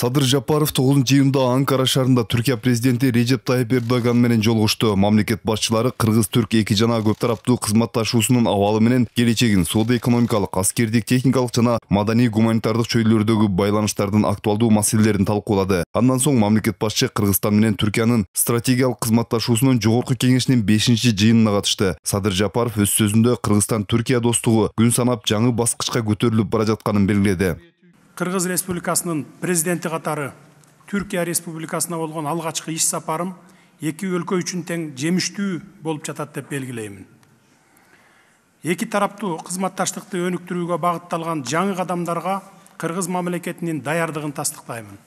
Садыр Жапаров 9-июнда Анкара шаарында Түркия президенти Режеп Тайип Эрдоган менен жолугушту. Мамлекет башчылары кыргыз-түрк эки жана көп тараптуу кызматташуусунун абалы менен келечегин, соода-экономикалык, аскердик, техникалык жана маданий-гуманитардык чөйрөлөрдөгү байланыштардын актуалдуу маселелерин талкуулады. Андан соң мамлекет башчы Кыргызстан менен Түркиянын стратегиялык кызматташуусунун жогорку кеңешинин 5-жыйынына катышты. Садыр Жапаров өз сөзүндө Кыргызстан-Түркия достугу күн санап жаңы баскычка көтөрүлүп бара жатканын белгиледи. Кыргыз Республикасынын президенти катары Түркия Республикасына болгон алгачкы иш сапарым эки өлкө үчүн тең жемиштүү болуп жатат деп белгилеймин. Эки тараптуу кызматташтыкты өнүктүрүүгө багытталган жаңы кадамдарга Кыргыз мамлекетинин даярдыгын тастыктаймын.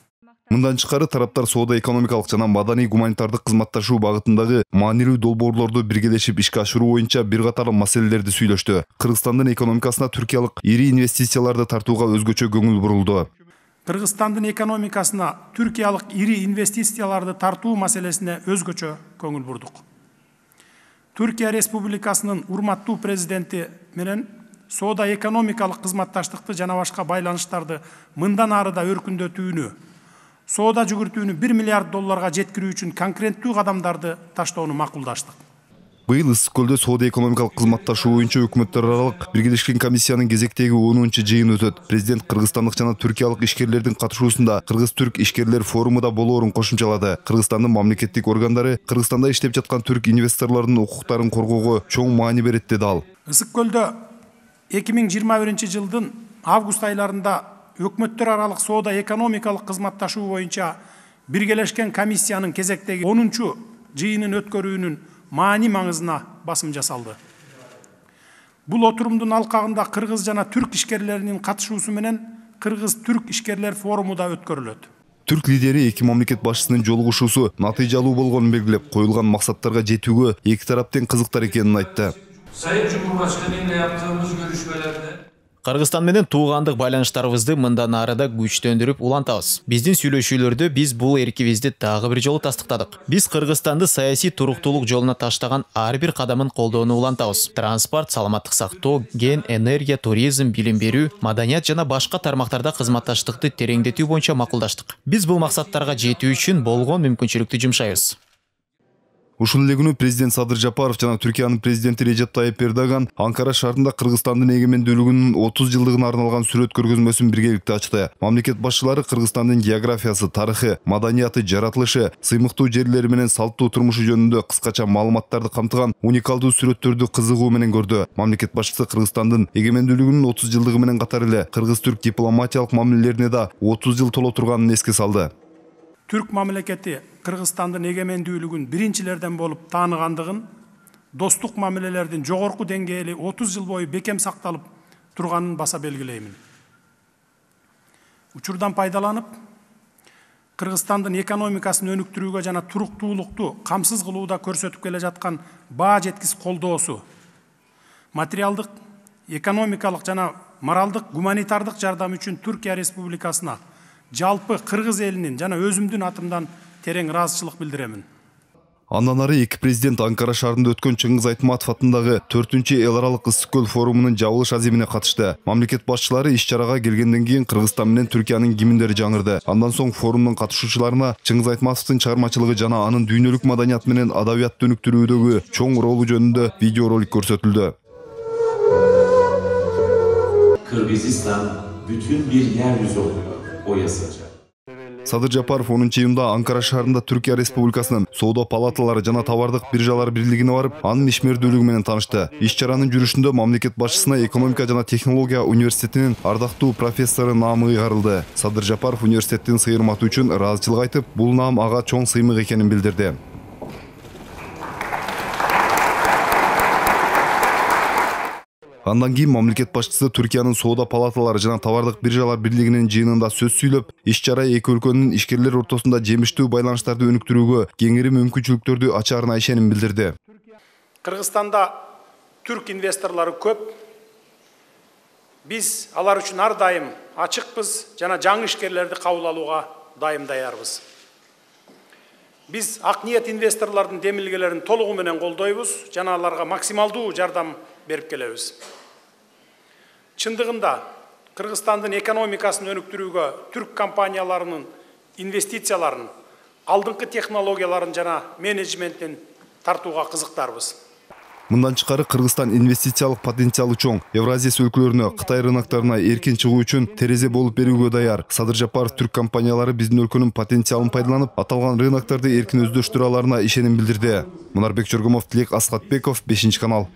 Мындан тышкары тараптар соода-экономикалык жана маданий-гуманитардык кызматташуу багытындагы маанилүү долбоорлорду биргелешип ишке ашыруу боюнча бир катар маселелерди сүйлөштү. Кыргызстандын экономикасына түркиялык ири инвестицияларды тартууга өзгөчө көңүл бурулду. Кыргызстандын экономикасына түркиялык ири инвестицияларды тартуу маселесине өзгөчө көңүл бурдук. Түркия Республикасынын урматтуу президенти менен соода-экономикалык кызматташтыкты жана башка байланыштарды мындан ары да өркүндөтүүнү, соода жүгүртүүнү $1 миллиард жеткирүү үчүн конкреттүү кадамдарды таштоону макулдаштык. Быйыл Ысык-Көлдө соода-экономикалык кызматташуу боюнча өкмөттөр аралык биргелешкен комиссиянын кезектеги 10-жыйыны өтөт. Президент кыргызстандык жана түркиялык ишкерлердин катышуусунда Кыргыз-түрк ишкерлер форуму да болоорун кошумчалады. Кыргызстандын мамлекеттик органдары Кыргызстанда иштеп жаткан түрк инвесторлордун укуктарын коргоого чоң маани берет деди ал. Ысык-Көлдө 2021-жылдын август айларында өкмөттөр аралык соода-экономикалык кызматташуу боюнча биргелешкен комиссиянын кезектеги 10-жыйынын өткөрүүнүн маани маңызына басым жасалды. Бул отурумдун алкагында кыргыз жана түрк ишкерлеринин катышуусу менен Кыргыз-түрк ишкерлер форуму да өткөрүлөт. Түрк лидери эки мамлекет башчысынын жолугушуусу натыйжалуу болгонун белгилеп, коюлган максаттарга жетүүгө эки тарап тең кызыктар экенин айтты. Sayın Cumhurbaşkanı ile yaptığımız görüşmelerde Кыргызстан менен туугандык байланыштарыбызды мындан ары да күчтөндүрүп улантабыз. Биздин сүйлөшүүлөрдө биз бул эркибизди дагы бир жолу тастыктадык. Биз Кыргызстанды саясий туруктуулук жолуна таштаган ар бир кадамын колдоону улантабыз. Транспорт, саламаттык сактоо, ген, энергия, туризм, билим берүү, маданият жана башка тармактарда кызматташтыкты тереңдетүү боюнча макулдаштык. Биз бул максаттарга жетүү үчүн болгон мүмкүнчүлүктү жумшайбыз. Ушул эле күнү президент Садыр Жапаров жана Түркиянын президенти Режеп Тайип Эрдоган Анкара шаарында Кыргызстандын эгемендүүлүгүнүн 30 жылдыгына арналган сүрөт көргөзмөсүн биргеликте ачты. Мамлекет башчылары Кыргызстандын географиясы, тарыхы, маданияты, жаратылышы, сыймыктуу жерлери менен салттуу турмушу жөнүндө кыскача маалыматтарды камтыган уникалдуу сүрөттөрдү кызыгуу менен көрдү. Мамлекет башчысы Кыргызстандын эгемендүүлүгүнүн 30 жылдыгы менен катар эле кыргыз-түрк дипломатиялык мамилелерине да 30 жыл толо турганын эске салды. Түрк мамлекети Кыргызстандын эгемендүүлүгүн биринчилерден болуп тааныгандыгын, достук мамилелердин жогорку деңгээли 30 жыл бою бекем сакталып турганын баса белгилеймин. Учурдан пайдаланып, Кыргызстандын экономикасын өнүктүрүүгө жана туруктуулукту камсыз кылууда көрсөтүп келе жаткан баа жеткис колдоосу, материалдык, экономикалык жана моралдык, гуманитардык жардам үчүн Түркия Республикасына жалпы кыргыз элинин жана өзүмдүн атымдан терең ыраазычылык билдиремин. Андан ары эки президент Анкара шаарында өткөн Чыңгыз Айтматов атындагы 4-эл аралык Ысык-Көл форумунун жабылыш аземине катышты. Мамлекет башчылары иш-чарага келгенден кийин Кыргызстан менен Түркиянын гимндери жаңырды. Андан соң форумдун катышуучуларына Чыңгыз Айтматовдун чыгармачылыгы жана анын дүйнөлүк маданият менен адабиятты өнүктүрүүдөгү чоң ролу жөнүндө видеоролик көрсөтүлдү. Kırgızistan bütün bir yeryüzü oluyor. O yazıcı. Садыр Жапаров 10-июнда Анкара шаарында Түркия Республикасынын соода палаталары жана товардык биржалар бирлигине барып, анын ишмердүүлүгү менен таанышты. Иш-чаранын жүрүшүндө мамлекет башчысына экономика жана технология университетинин ардактуу профессору наамы ыйгарылды. Садыр Жапаров университеттин сыйырматы үчүн ыраазычылык айтып, бул наам ага чоң сыймык экенин билдирди. Андан кийин мамлекет башчысы Түркиянын соода палаталары жана товардык биржалар бирлигинин жыйынында сөз сүйлөп, иш-чара эки өлкөнүн ишкерлер ортосунда жемиштүү байланыштарды өнүктүрүүгө кеңири мүмкүнчүлүктөрдү ачаарына ишеним билдирди. Кыргызстанда түрк инвесторлору көп. Биз алар үчүн ар дайым ачыкпыз жана жаңы ишкерлерди кабыл алууга дайым даярбыз. Биз ак ниет инвесторлордун демилгелерин толугу менен колдойбуз жана аларга максималдуу жардам берип келебиз. Чындыгында Кыргызстандын экономикасын өнүктүрүүгө түрк компанияларынын инвестицияларын, алдыңкы технологияларын жана менеджменттин тартууга кызыктарбыз. Мындан тышкары Кыргызстан инвестициялык потенциалы чоң. Евразия өлкөлөрүнө, Кытай рыноктарына эркин чыгуу үчүн терезе болуп берүүгө даяр. Садыр Жапаров түрк компаниялары биздин өлкөнүн потенциалын пайдаланып, аталган рыноктарды эркин өздөштүрө аларына ишеним билдирди. Мунарбек Жоргомов, Тилек Аскатбеков, 5 канал.